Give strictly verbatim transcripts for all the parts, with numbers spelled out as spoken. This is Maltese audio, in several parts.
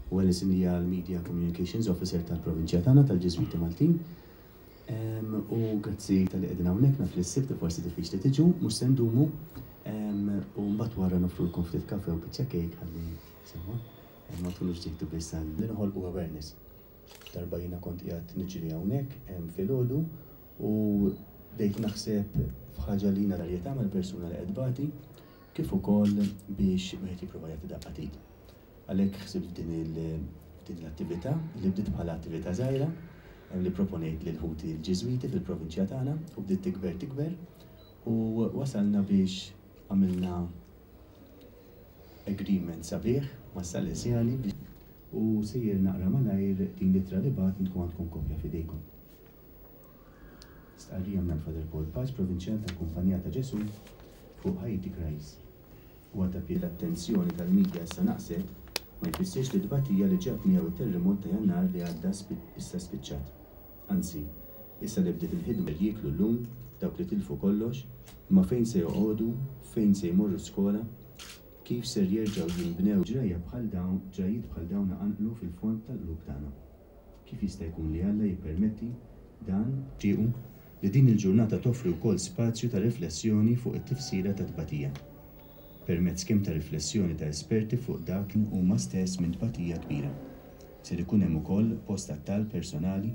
U Alison hija l-Media Communications Officer tal-Provinċja tagħna tal-Ġiżwiti Maltin. Em, U grazzi talli qegħdin hawnhekk, naf li s-Sibt forsi diffiċli tiġu, mhux se ndumu. Em, U mbagħad wara noffrulkom ftit kafe u biċċa cake ħalli sewwa. Em, Ma tkunux ġejtu biss għal li noħolqu awareness. Darba jiena kont qiegħed niġri hawnhekk em, filgħodu u bdejt naħseb f'ħaġa li jiena darjeta mal-persuna li qed tbati, kif ukoll biex wieħed jipprova jagħti daqqa t'id. Għalhekk ħsibt din il- din l-attività li bdiet bħala attività żgħira em, li proponejt lil ħuti l-Ġiżwiti fil-provinċja tagħna u bdiet tikber tikber u wasalna biex għamilna agreement sabiħ ma' Salesjani biex u sejjer naqra malajr din l-ittra li bgħatt, intkom għandkom kopja f'idejkom. Stqarrija minn Father Paul Pace, provinċjal tal-Kumpanija ta' Ġesu, fuq Haiti Crisis. U għata l-attenzjoni tal-medja issa naqset, ma jfissirx li tbatija li ġab miegħu it-terremot ta' Jannar li għadda spi- issa spiċċat. Anzi, issa li bdiet il-ħidma jieklu llum dawk li tilfu kollox, imma fejn se joqogħdu, fejn se jmorru skola, kif ser jerġgħu jinbnew? Ġrajja bħal dawn, ġrajiet bħal dawn qanqlu fil-fond tal-qlub tagħna. Kif jista' jkun li Alla jippermetti dan? Nixtiequ li din il-ġurnata toffri wkoll spazju ta' riflessjoni fuq it-tifsira ta' tbatija, permezz kemm ta' riflessjoni ta' esperti fuq dak li huma stess minn tbatija kbira. Ser ikun hemm ukoll post għat-talb personali,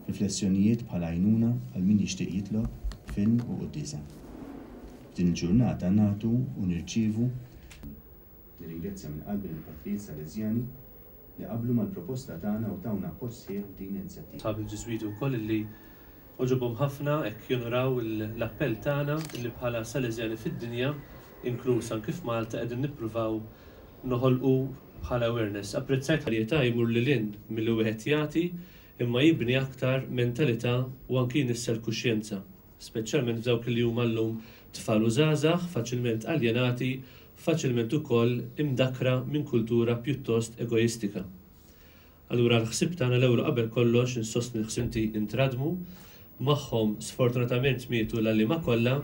riflessjonijiet bħala għajnuna għal min jixtieq jitlob, film u quddiesa. F'din il-ġurnata nagħtu u nirċievu. Nirringrazzja minn qalbi lill-Patrijiet Salesjani li qablu mal-proposta tagħna u tawna appoġġ sħiħ f'din l-inizjattiva. Sħab il-Ġiżwiti wkoll illi għoġobhom ħafna hekk jonoraw l-appell tagħna illi bħala Salesjani fid-dinja, inkluż anki f'Malta, qegħdin nippruvaw noħolqu bħala awareness. Apprezzajt li jmur lil hinn milli wieħed jagħti, imma jibni aktar mentalità u anki jnissel kuxjenza, speċjalment f'dawk li huma llum tfal u żgħażagħ faċilment aljenati, faċilment ukoll imdakra minn kultura pjuttost egoistika. Allura l-ħsib tagħna l-ewwel qabel kollox insostni l-ħsimti intradmu, magħhom sfortunatament mietu l-għalliema kollha,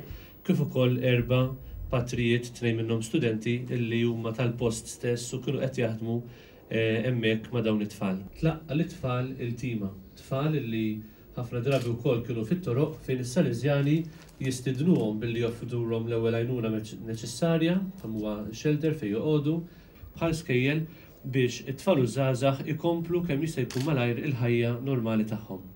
kif ukoll erba' patrijiet, tnejn minnhom studenti illi huma tal-post stess u kienu qed jaħdmu eh, hemmhekk ma' dawn it-tfal. Tlaqqa l-tfal il-tima, tfal illi ħafna drabi wkoll kienu fit-toroq, fejn is-Salesjani jistidnuhom billi joffrulhom l-ewwel għajnuna neċessarja, kemm huwa shelter fejn joqogħdu, bħal skejjel, biex it-tfal u żgħażagħ ikomplu kemm jista' jkun malajr il-ħajja normali tagħhom.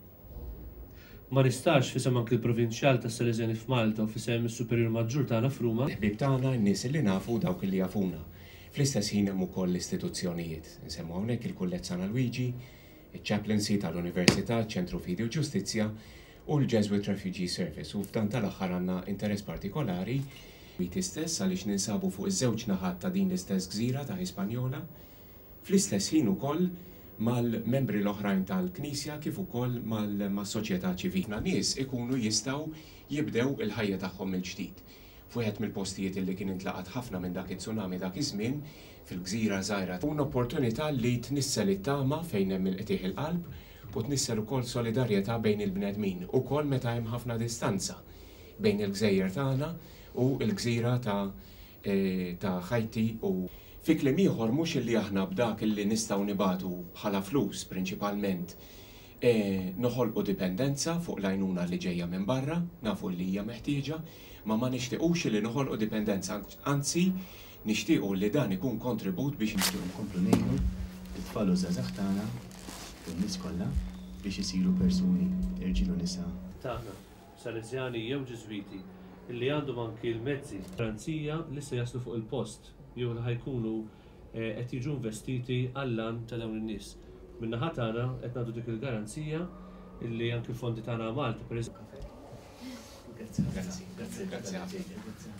Ma nistax, f'isem anki l-provinċjal tas Salesjani f'Malta u f'isem is-Superjur Maġġur tagħna f'Ruma, Ħbib tagħna, n-nies li nafu, dawk li jafuna. Fl-istess ħin hemm ukoll l-istituzzjonijiet. Nsemmu hawnhekk il-Kulleġġ San Alwiġi, il-Chaplaincy tal-Università, Ċentru Fidi u Ġustizzja u l-Jesuit Refugee Service. U f'dan tal-aħħar għandna interess partikolari Haiti stess, għaliex ninsabu fuq iż-żewġ naħat ta' din l-istess gżira ta' Hispaniola. Fl-istess ħin ukoll mal-membri l-oħrajn tal-Knisja kif ukoll mal-soċjetà ċivili. Nies ikunu jistgħu jibdew il-ħajja tagħhom mill-ġdid. F'wieħed mill-postijiet li kien intlaqat ħafna minn dak it-tsunami dak iż-żmien, fil-gżira żgħira. Un opportunità li tnissel it-tama fejn hemm il-qtigħ il-qalb u tnissel ukoll solidarjetà bejn il-bnedmin, ukoll meta hemm ħafna distanza bejn il-gżejjer tagħna u l-gżira ta' eh, ta' Haiti. U fi kliem ieħor, mhux illi aħna b'dak illi nistgħu nibagħtu bħala flus prinċipalment e, noħolqu dipendenza fuq l-għajnuna li ġejja minn barra. Nafu li hija meħtieġa, ma ma nixtiequx li noħolqu dipendenza, anzi nixtiequ li dan ikun kontribut biex nixtiequ nkomplu ngħinu it-tfal u żgħażagħ tagħna u n-nies kollha biex isiru persuni, irġiel u nisa. Tagħna, Salesjani jew Ġiżwiti, illi għandhom anki l-mezzi garanzija li se jaslu fuq il-post jew li ħa jkunu eh, qed jiġu investiti għall-għan ta' dawn in-nies. Min-naħa tagħna qed nagħtu dik il-garanzija illi anki l-fondi tagħna Malta, per Grazzi. Grazzi. Grazzi. Grazzi. Grazzi.